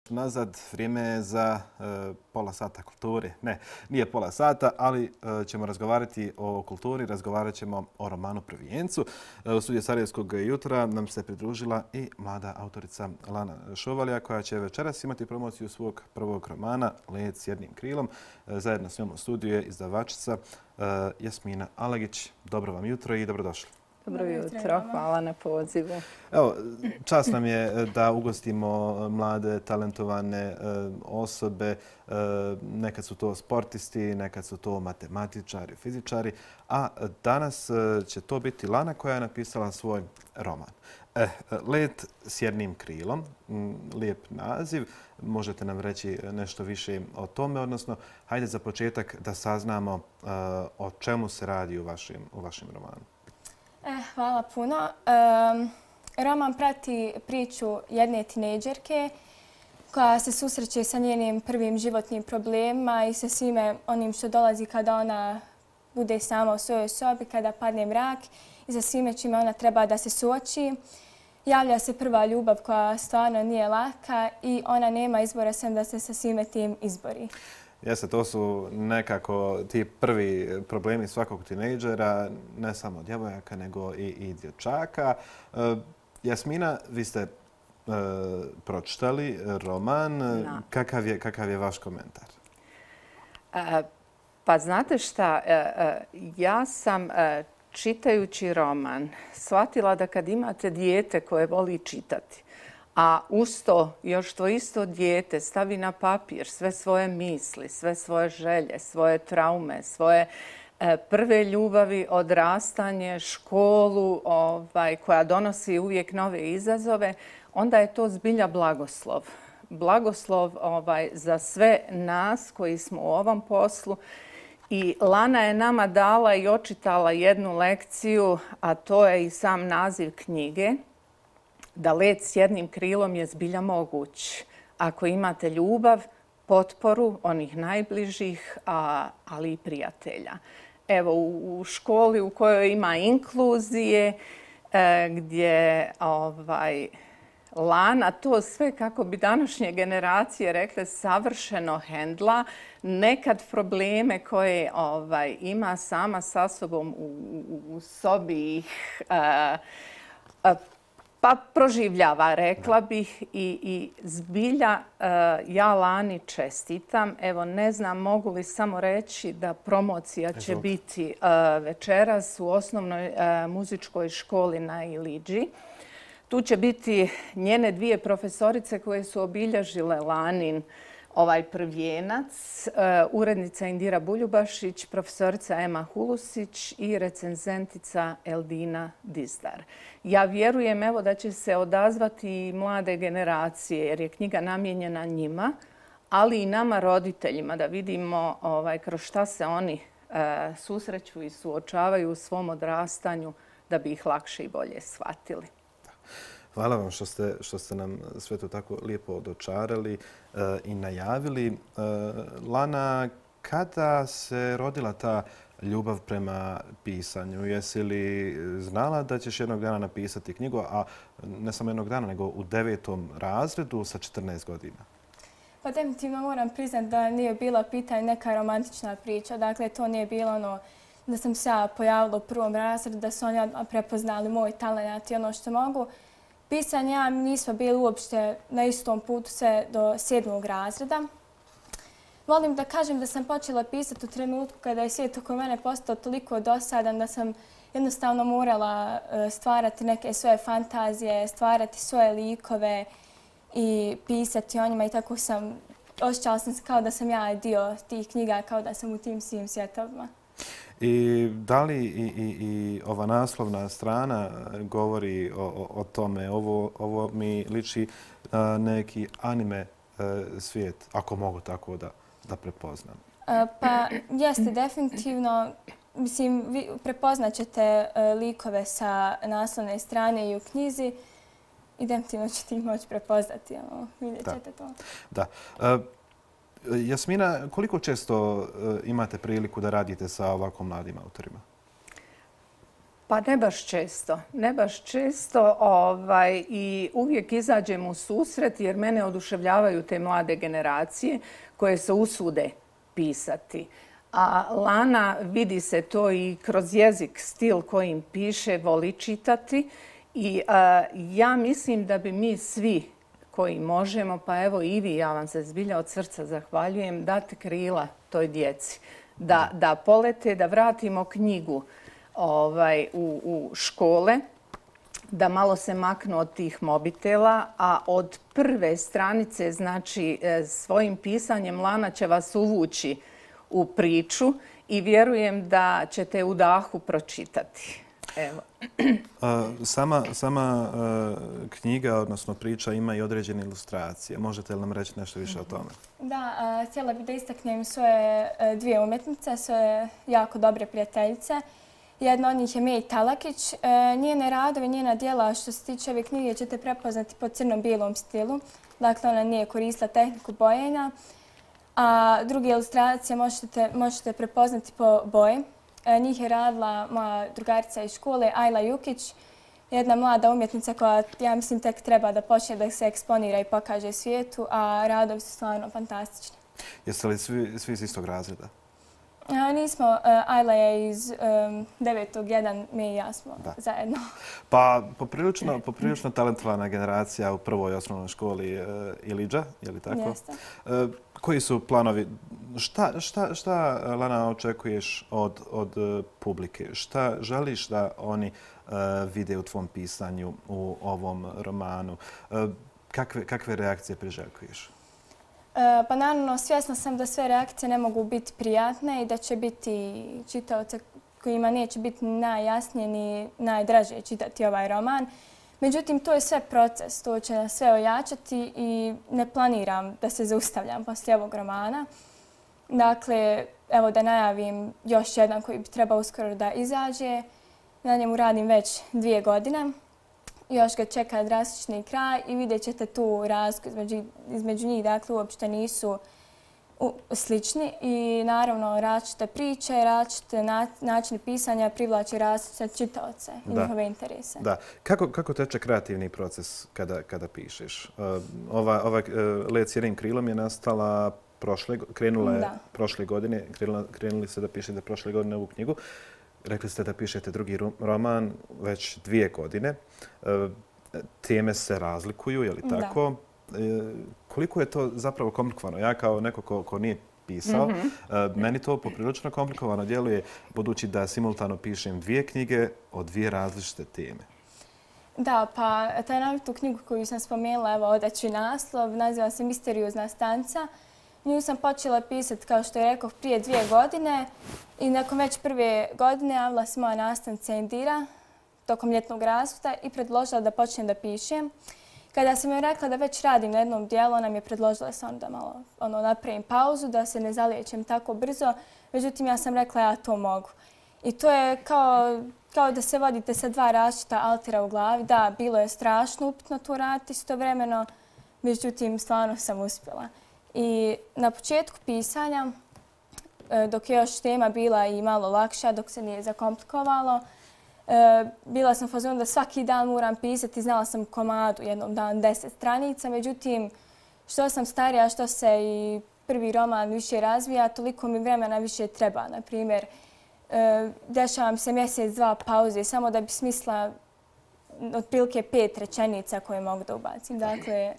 Nazad, vrijeme je za pola sata kulture. Ne, nije pola sata, ali ćemo razgovarati o kulturi, razgovarat ćemo o romanu Prvijencu. U studiju Sarajevskog jutra nam se pridružila i mlada autorica Lana Šovalja, koja će večeras imati promociju svog prvog romana Let s jednim krilom. Zajedno s njom u studiju je izdavačica Jasmina Alagić. Dobro vam jutro i dobrodošli. Dobro jutro, hvala na pozivu. Evo, čast nam je da ugostimo mlade, talentovane osobe. Nekad su to sportisti, nekad su to matematičari, fizičari, a danas će to biti Lana koja je napisala svoj roman. Let s jednim krilom, lijep naziv. Možete nam reći nešto više o tome, odnosno hajde za početak da saznamo o čemu se radi u vašem romanu. Hvala puno. Roman prati priču jedne tinejdžerke koja se susreće sa njenim prvim životnim problemima i sa svime onim što dolazi kada ona bude sama u svojoj sobi, kada padne mrak i sa svime čime ona treba da se suoči. Javlja se prva ljubav koja stvarno nije laka i ona nema izbora sem da se sa svime tim izbori. Jeste, to su nekako ti prvi problemi svakog tinejdžera, ne samo djevojaka, nego i dječaka. Jasmina, vi ste pročitali roman. Kakav je vaš komentar? Pa znate šta, ja sam čitajući roman shvatila da kad imate dijete koje voli čitati, a uz to još to isto dijete stavi na papir sve svoje misli, sve svoje želje, svoje traume, svoje prve ljubavi, odrastanje, školu koja donosi uvijek nove izazove, onda je to zbilja blagoslov. Blagoslov za sve nas koji smo u ovom poslu. I Lana je nama dala i očitala jednu lekciju, a to je i sam naziv knjige, da let s jednim krilom je zbilja moguć ako imate ljubav, potporu onih najbližih, ali i prijatelja. Evo, u školi u kojoj ima inkluzije, gdje Lana to sve, kako bi današnje generacije rekle, savršeno hendla, nekad probleme koje ima sama sa sobom u sobi ih pa proživljava, rekla bih, i zbilja ja Lani čestitam. Evo, ne znam mogu li samo reći da promocija će biti večeras u osnovnoj muzičkoj školi na Iliđi. Tu će biti njene dvije profesorice koje su obilježile Lanin Prvijenac, urednica Indira Buljubašić, profesorica Ema Hulusić i recenzentica Eldina Dizdar. Ja vjerujem evo da će se odazvati i mlade generacije jer je knjiga namijenjena njima, ali i nama roditeljima da vidimo kroz šta se oni susreću i suočavaju u svom odrastanju da bi ih lakše i bolje shvatili. Hvala vam što ste nam sve to tako lijepo dočarali i najavili. Lana, kada se rodila ta ljubav prema pisanju? Jesi li znala da ćeš jednog dana napisati knjigu, a ne samo jednog dana, nego u 9. razredu sa 14 godina? Pa definitivno moram priznati da nije bila pitanje neka romantična priča. Dakle, to nije bilo ono da sam se ja pojavila u 1. razredu, da su oni prepoznali moj talent i ono što mogu. Pisanje ja nismo bili uopšte na istom putu sve do 7. razreda. Volim da kažem da sam počela pisati u trenutku kada je svijet oko mene postao toliko dosadan da sam jednostavno morala stvarati neke svoje fantazije, stvarati svoje likove i pisati o njima i tako osjećala sam se kao da sam ja dio tih knjiga, kao da sam u tim svim svjetovima. I da li i ova naslovna strana govori o tome? Ovo mi liči na neki anime svijet, ako mogu tako da prepoznam. Pa jeste, definitivno. Mislim, vi prepoznat ćete likove sa naslovne strane i u knjizi i definitivno ćete ih moći prepoznati. Vidjet ćete to. Da. Jasmina, koliko često imate priliku da radite sa ovako mladim autorima? Pa ne baš često i uvijek izađem u susret jer mene oduševljavaju te mlade generacije koje se usude pisati. A Lana, vidi se to i kroz jezik, stil kojim piše, voli čitati i ja mislim da bi mi svi koji možemo, pa evo i vi, ja vam se zbilja od srca zahvaljujem, dati krila toj djeci. Da polete, da vratimo knjigu u škole, da malo se maknu od tih mobitela, a od prve stranice, znači svojim pisanjem Lana će vas uvući u priču i vjerujem da ćete u dahu pročitati. Evo. Sama knjiga, odnosno priča, ima i određene ilustracije. Možete li nam reći nešto više o tome? Da, htjela bih da istaknem svoje dvije umjetnice, svoje jako dobre prijateljice. Jedna od njih je Mej Talakić. Njene radove, njena djela što se tiče ove knjige ćete prepoznati po crno-bijelom stilu. Dakle, ona nije koristila tehniku bojenja. A druge ilustracije možete prepoznati po boji. Njih je radila moja drugarica iz škole, Ajla Jukić, jedna mlada umjetnica koja, ja mislim, tek treba da počne da se eksponira i pokaže svijetu, a radovi su stvarno fantastični. Jeste li svi iz istog razreda? Nismo. Ajla je iz 9. jedan, mi i ja smo zajedno. Pa poprilično talentovana generacija u prvoj osnovnoj školi Ilidža, je li tako? Jeste. Koji su planovi? Šta, Lana, očekuješ od publike? Šta želiš da oni vide u tvom pisanju u ovom romanu? Kakve reakcije priželjkuješ? Pa naravno, svjesna sam da sve reakcije ne mogu biti prijatne i da će biti čitaoce kojima neće biti najjasnije ni najdraže čitati ovaj roman. Međutim, to je sve proces, to će nas sve ojačati i ne planiram da se zaustavljam poslije ovog romana. Dakle, evo da najavim još jedan koji bi trebao uskoro da izađe. Na njemu radim već 2 godine. Još ga čeka drastični kraj i vidjet ćete tu razliku između njih. Dakle, uopšte nisu slični i naravno različite priče, različite načine pisanja privlači različite čitaoce i njihove interese. Da. Kako teče kreativni proces kada pišeš? Ova Let s jednim krilom je nastala krenula je prošle godine, krenuli ste da pišete prošle godine ovu knjigu. Rekli ste da pišete drugi roman već 2 godine. Teme se razlikuju, je li tako? Koliko je to zapravo komplikovano? Ja kao neko ko nije pisao, meni to poprilično komplikovano djeluje, budući da simultano pišem 2 knjige o 2 različite teme. Da, pa tu knjigu koju sam spomenula, evo odaću naslov, naziva se Misteriozna stanca. Nju sam počela pisati, kao što je rekao, prije 2 godine i nakon već prve godine javila se moja nastavnica Indira tokom ljetnog raspusta i predložila da počnem da pišem. Kada sam joj rekla da već radim na jednom dijelu, ona mi je predložila samo da malo napravim pauzu, da se ne zaliječem tako brzo. Međutim, ja sam rekla ja to mogu. I to je kao da se vodite sa 2 različita altera u glavi. Da, bilo je strašno upitno to raditi istovremeno, međutim, stvarno sam uspjela. I na početku pisanja, dok je još tema bila i malo lakša, dok se nije zakomplikovalo, bila sam u fazonu da svaki dan moram pisati. Znala sam komadu jednom dan 10 stranica. Međutim, što sam starija, što se i prvi roman više razvija, toliko mi vremena više treba. Naprimjer, dešavam se mjesec, 2 pauze samo da bi smisla otprilike 5 rečenica koje mogu da ubacim. Dakle,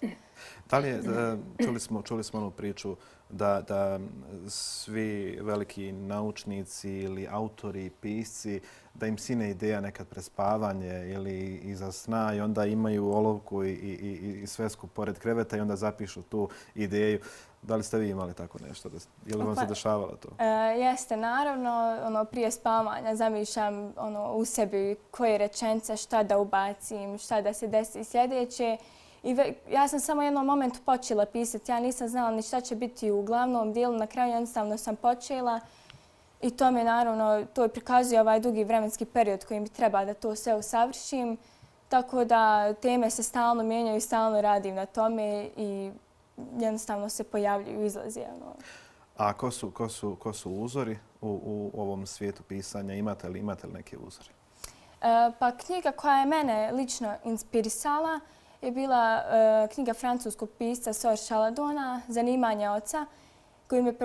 da li je, čuli smo onu priču da svi veliki naučnici ili autori, pisci, da im sine ideja nekad prespavanje ili iza sna i onda imaju olovku i svesku pored kreveta i onda zapišu tu ideju. Da li ste vi imali tako nešto? Je li vam se dešavalo to? Jeste, naravno. Prije spavanja zamišljam u sebi koje rečenice, šta da ubacim, šta da se desi sljedeće. Ja sam samo u jednom momentu počela pisati. Ja nisam znala ni šta će biti u glavnom dijelu. Na kraju jednostavno sam počela i to mi naravno, to prikazuje ovaj dugi vremenski period kojim bi treba da to sve usavršim. Tako da teme se stalno mijenjaju i stalno radim na tome i jednostavno se pojavljuju, izlazi. A ko su uzori u ovom svijetu pisanja? Imate li neke uzore? Pa knjiga koja je mene lično inspirisala je bila knjiga francuskog pisca Sor Chaladona, Zanimanje oca, koju mi je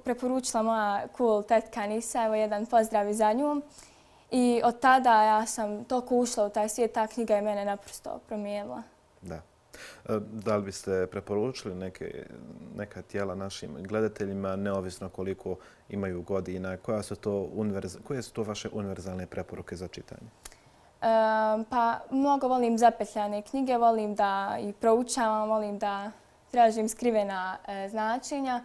preporučila moja cool tetka Nisa. Evo jedan pozdrav i za nju. I od tada ja sam toliko ušla u taj svijet, ta knjiga je mene naprosto promijenila. Da. Da li biste preporučili neka tijela našim gledateljima, neovisno koliko imaju godina? Koje su to vaše univerzalne preporuke za čitanje? Pa mnogo volim zapetljane knjige, volim da ih proučavam, volim da tražim skrivena značenja.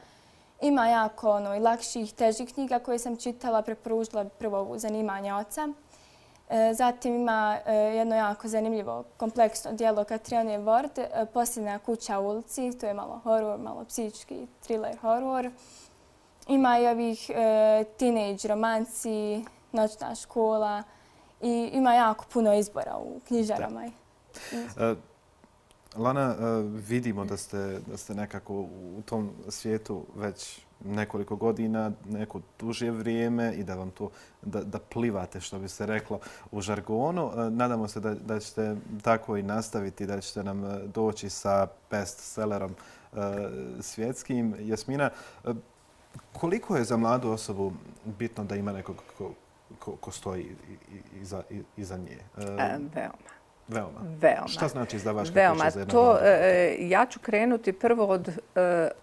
Ima jako i lakših, težih knjiga koje sam čitala, preporučila prvo Zanimanje oca. Zatim ima jedno jako zanimljivo kompleksno djelo Katrione Ward, Posljednja kuća u ulici, to je malo horor, malo psihički thriller horor. Ima i ovih teenage romanci, Noćna škola i ima jako puno izbora u knjižarama. Lana, vidimo da ste nekako u tom svijetu već nekoliko godina, neko duže vrijeme i da vam to da plivate, što bi se reklo u žargonu. Nadamo se da ćete tako i nastaviti, da ćete nam doći sa bestsellerom svjetskim. Jasmina, koliko je za mladu osobu bitno da ima nekog ko stoji iza nje? Veoma. Šta znači izdavačka kuća za jednog mladog? Ja ću krenuti prvo od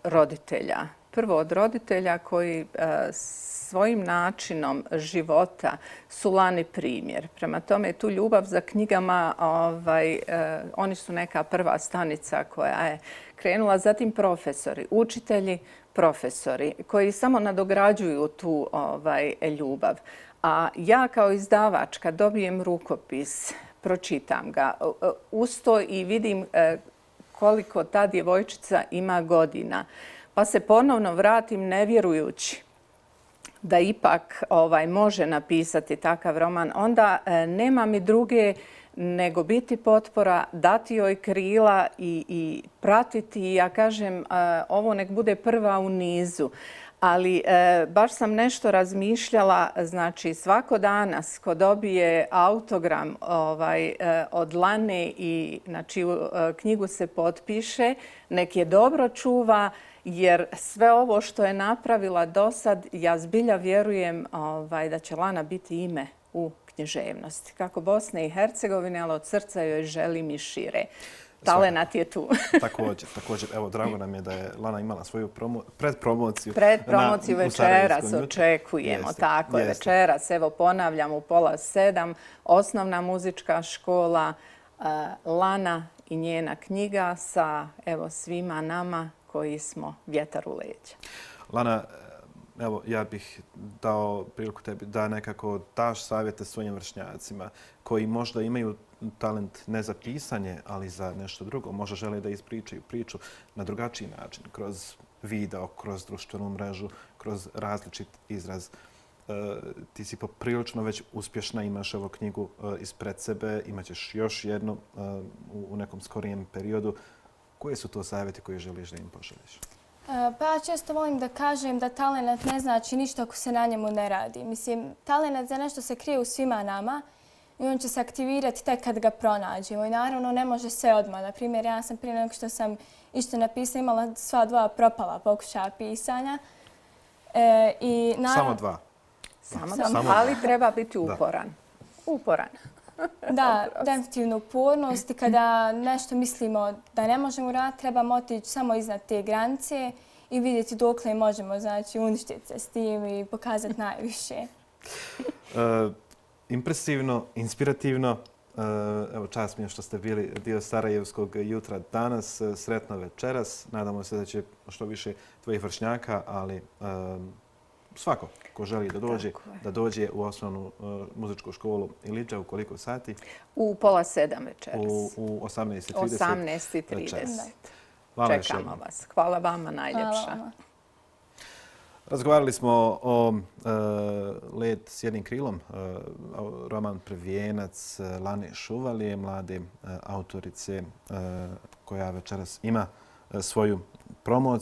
roditelja. Prvo od roditelja koji svojim načinom života su Lani primjer. Prema tome, tu ljubav za knjigama, oni su neka prva stanica koja je krenula. Zatim profesori, učitelji, profesori koji samo nadograđuju tu ljubav. A ja kao izdavač kad dobijem rukopis, pročitam ga uz to i vidim koliko ta djevojčica ima godina. Pa se ponovno vratim ne vjerujući da ipak može napisati takav roman. Onda nema mi druge nego biti potpora, dati joj krila i pratiti. Ja kažem, ovo nek bude prva u nizu. Ali baš sam nešto razmišljala, znači svako danas ko dobije autogram od Lane i na čiju knjigu se potpiše, nek je dobro čuva, jer sve ovo što je napravila do sad, ja zbilja vjerujem da će Lana biti ime u književnosti. Kako Bosne i Hercegovine, ali od srca joj želim i šire. Talenat je tu. Također. Evo, drago nam je da je Lana imala svoju predpromociju. Predpromociju večeras očekujemo. Tako je, večeras. Evo, ponavljam u 6:30. Osnovna muzička škola Lana i njena knjiga sa svima nama koji smo vjetar u leđa. Lana, evo, ja bih dao priliku tebi da nekako daš savjete svojim vršnjacima koji možda imaju talent ne za pisanje, ali za nešto drugo. Možda žele da ispričaju priču na drugačiji način, kroz video, kroz društvenu mrežu, kroz različit izraz. Ti si poprilično već uspješna, imaš ovu knjigu ispred sebe, imaćeš još jednu u nekom skorijem periodu. Koje su to savjeti koje želiš da im pošalješ? Pa ja često volim da kažem da talent ne znači ništa ako se na njemu ne radi. Mislim, talent za nešto se krije u svima nama i on će se aktivirati tek kad ga pronađemo. I naravno ne može sve odmah. Na primjer, ja sam prije nego što sam išto napisala imala sva 2 propala pokušaja pisanja. Samo 2? Samo 2, ali treba biti uporan. Uporan. Da, definitivno upornost i kada nešto mislimo da ne možemo raditi, trebamo otići samo iznad te granice i vidjeti dokle možemo, znači uništiti se s tim i pokazati najviše. Impresivno, inspirativno. Evo, čast mi je što ste bili dio Sarajevskog jutra danas. Sretno večeras. Nadamo se da će što više tvojih vršnjaka, ali svako ko želi da dođe u osnovnu muzičku školu Ilidža u koliko sati? U 6:30 večeras. U 18:30. 18:30. Čekamo vas. Hvala vama najljepša. Razgovarali smo o Led s jednim krilom, roman Prvijenac Lane Šuvalije, mlade autorice koja večeras ima svoju promociju.